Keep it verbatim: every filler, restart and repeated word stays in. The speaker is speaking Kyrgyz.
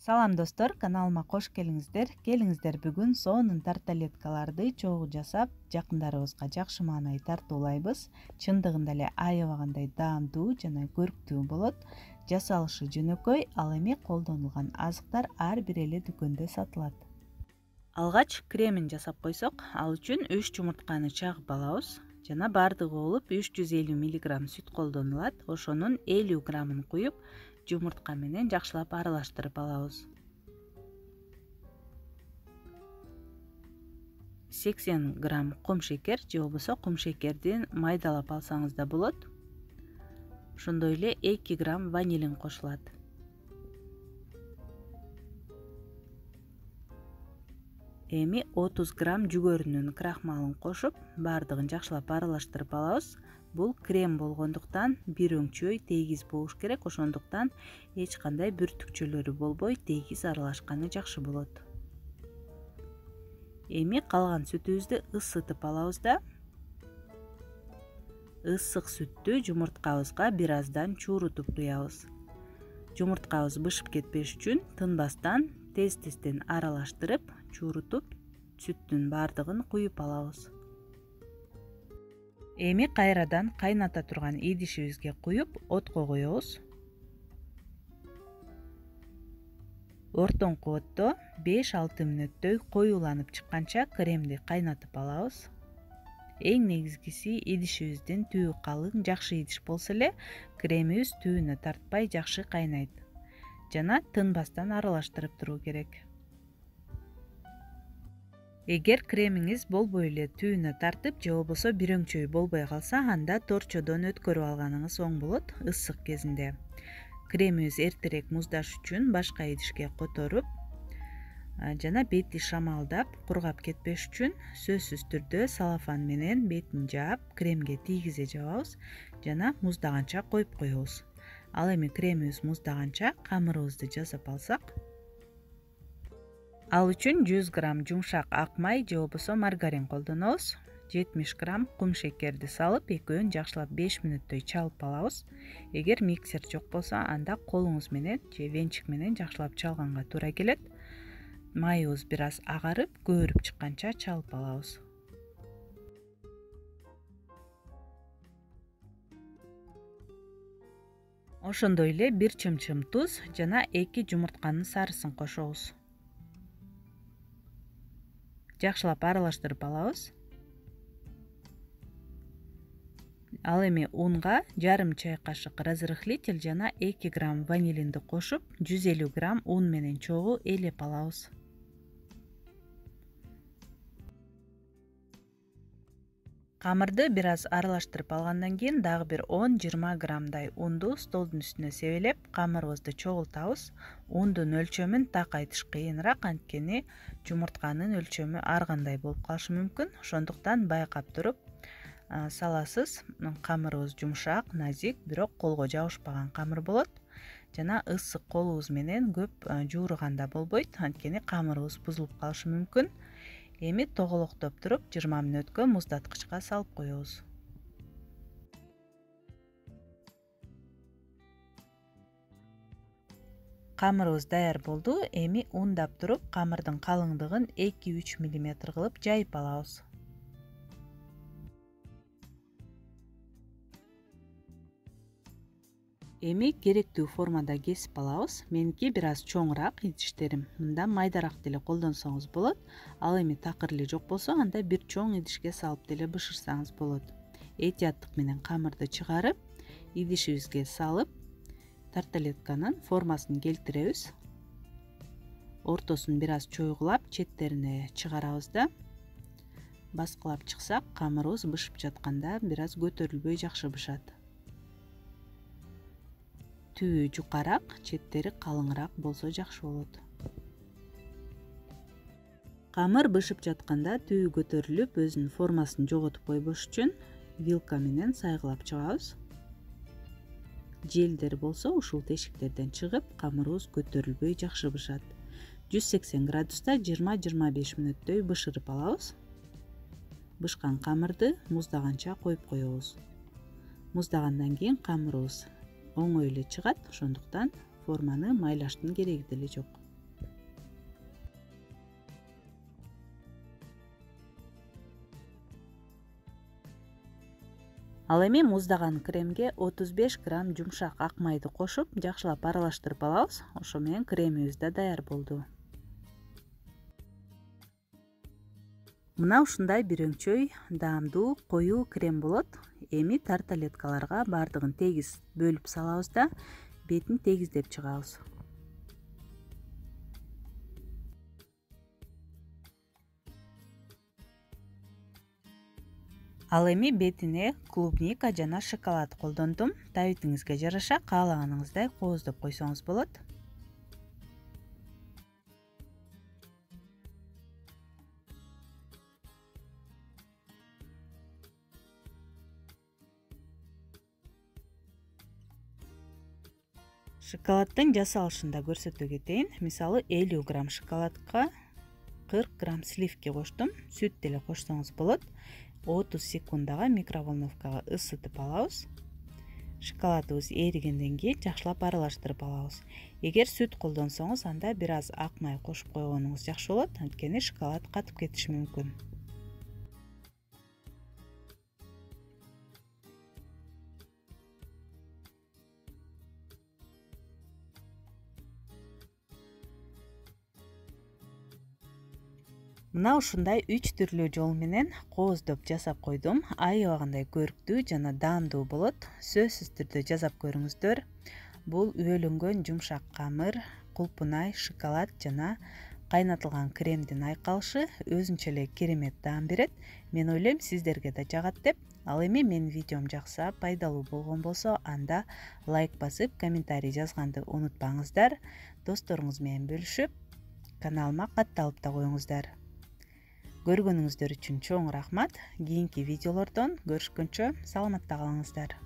Салам достор, каналыма кош келиңиздер. Келиңиздер бүгүн сонун тарталеткаларды чогуу жасап, жакындарыбызга жакшы маанай тартуулайбыз. Чындыгында эле аябагандай даамдуу жана көрктүү болот. Жасалышы жөнөкөй, ал эми колдонулган азыктар ар бир эле дүкөндө сатылат. Алгач кремин жасап койсок, ал үчүн үч жумуртканы чагып алабыз. Жана бардыгы болуп үч жүз элүү миллиграмм сүт колдонулат. Ошонун элүү граммын куюп, жумуртка менен жакшылап аралаштырып алабыз. сексен грамм кум шекер же болбосо кум шекердин майдалап алсаңыз да болот. Ошондой эле эки грамм ванилин кошулат. Эми отуз грамм жүгөрүнүн крахмалын кошуп, бардыгын жакшылап аралаштырып алабыз. Бул крем болгондуктан бир өңчөй тегиз болуш керек, ошондуктан эч кандай бүртүкчөлөрү болбой тегиз аралашканы жакшы болот. Эми калган сүтүбүздү ысытып алабыз да ысык сүттү жумурткабызга бир аздан чуурутуп куябыз. Жумурткабыз бышып кетпеш үчүн тынбастан тез-тезден аралаштырып, чуурутуп, сүттүн бардыгын куюп алабыз. Эми кайрадан кайната турган идишибизге куюп, отко коебуз. Ортоңку отто беш алты мүнөттөй коюуланып чыкканча кремди кайнатып алабыз. Эң негизгиси идишибиздин түбү калың, жакшы идиш болсо эле кремибиз түбүнө тартпай жакшы кайнайт. Жана тынбастан аралаштырып туруу керек. Эгер кремиңиз болбой эле түбүнө тартып, же болбосо бир өңчөй болбой калса, анда торчодон өткөрүп алганыңыз оң болот ысык кезинде. Кремибиз эртерээк муздаш үчүн башка идишке которуп, жана бети шамалдап, кургап кетпеш үчүн сөзсүз түрдө салафан менен бетин жаап, кремге тийгизе жабабыз жана муздаганча коюп коебуз. Ал эми кремибиз муздаганча камырыбызды жасап алсак, ал үчүн жүз грамм жумшак ак май же болбосо маргарин колдонобуз. жетимиш грамм кум шекерди салып, экөөнү жакшылап беш мүнөттөй чалып алабыз. Эгер миксер жок болсо, анда колуңуз менен же венчик менен жакшылап чалганга туура келет. Майыбыз бир аз агарып, көбүрүп чыкканча чалып алабыз. Ошондой эле бир чымчым туз жана эки жумуртканын сарысын кошобуз. Жакшылап аралаштырып алабыз. Ал эми унга жарым чай кашык разрыхлитель жана эки грамм ванилинди кошуп, жүз элүү грамм ун менен чогуу ээлеп алабыз. Камырды бир аз аралаштырып алгандан кийин дагы бир он жыйырма граммдай унду столдун үстүнө себелеп, камырыбызды чогултабыз. Ундун өлчөмүн так айтыш кыйыныраак, анткени жумуртканын өлчөмү ар кандай болуп калышы мүмкүн. Ошондуктан байкап туруп саласыз. Камырыбыз жумшак, назик, бирок колго жабышпаган камыр болот. Жана ысык колубуз менен көп жууруганда болбойт, анткени камырыбыз бузулуп калышы мүмкүн. Эми тоголоктоп туруп жыйырма мүнөткө муздаткычка салып коебуз. Камырыбыз даяр болду. Эми ундап туруп, камырдын калыңдыгын эки үч миллиметр кылып жайып алабыз. Эми керектүү формада кесип алабыз. Меники бир аз чоңураак идиштерим. Мында майдараак деле колдонсоңуз болот. Ал эми такыр эле жок болсо, анда бир чоң идишке салып деле бышырсаңыз болот. Этияттык менен камырды чыгарып, идишибизге салып, тарталетканын формасын келтиребиз. Ортосун бир аз чойгулап, четтерине чыгарабыз да баскылап чыксак, камырыбыз бышып жатканда бир аз көтөрүлбөй жакшы бышат. Түбү жукараак, четтери калыңыраак болсо жакшы болот. Камыр бышып жатканда түбү көтөрүлүп, өзүнүн формасын жоготуп койбош үчүн вилка менен сайгылап чыгабыз. Желдер болсо ушул тешиктерден чыгып, камырыбыз көтөрүлбөй жакшы бышат. жүз сексен градуста жыйырма жыйырма беш мүнөттөй бышырып алабыз. Бышкан камырды муздаганча коюп коебуз. Муздагандан кийин камырыбыз оңой эле чыгат, ошондуктан форманы майлаштын кереги деле жок. Ал эми муздаган кремге отуз беш грамм жумшак ак майды кошуп, жакшылап аралаштырып алабыз. Ошо менен кремибиз да даяр болду. Мына ушундай бир өңчөй даамдуу коюу крем болот. Эми тарталеткаларга бардыгын тегиз бөлүп салабыз да бетин тегиздеп чыгабыз. Ал эми бетине клубника жана шоколад колдондум. Табитиңизге жараша каалаганыңыздай кооздоп койсоңуз болот. Шоколаддын жасалышын да көрсөтө кетейин. Мисалы элүү грамм шоколадка кырк грамм сливки коштум. Сүт деле кошсоңуз болот. отуз секундага микроволновкага ысытып алабыз. Шоколадыбыз эригенден кийин жакшылап аралаштырып алабыз. Эгер сүт колдонсоңуз, анда бир аз ак май кошуп койгонуңуз жакшы болот, анткени шоколад катып кетиши мүмкүн. Мына ушундай үч түрлүү жол менен кооздоп жасап койдум. Аябагандай көрктүү жана даамдуу болот. Сөзсүз түрдө жасап көрүңүздөр. Бул үөлөнгөн жумшак камыр, кулпунай, шоколад жана кайнатылган кремдин айкалышы өзүнчө эле керемет даам берет. Мен ойлойм, сиздерге да жагат деп. Ал эми менин видеом жакса, пайдалуу болгон болсо, анда лайк басып, комментарий жазганды унутпаңыздар. Досторуңуз менен бөлүшүп, каналыма катталып да коюңуздар. Көргөнүңүздөр үчүн чоң рахмат. Кийинки видеолордон көрүшкөнчө саламатта калыңыздар.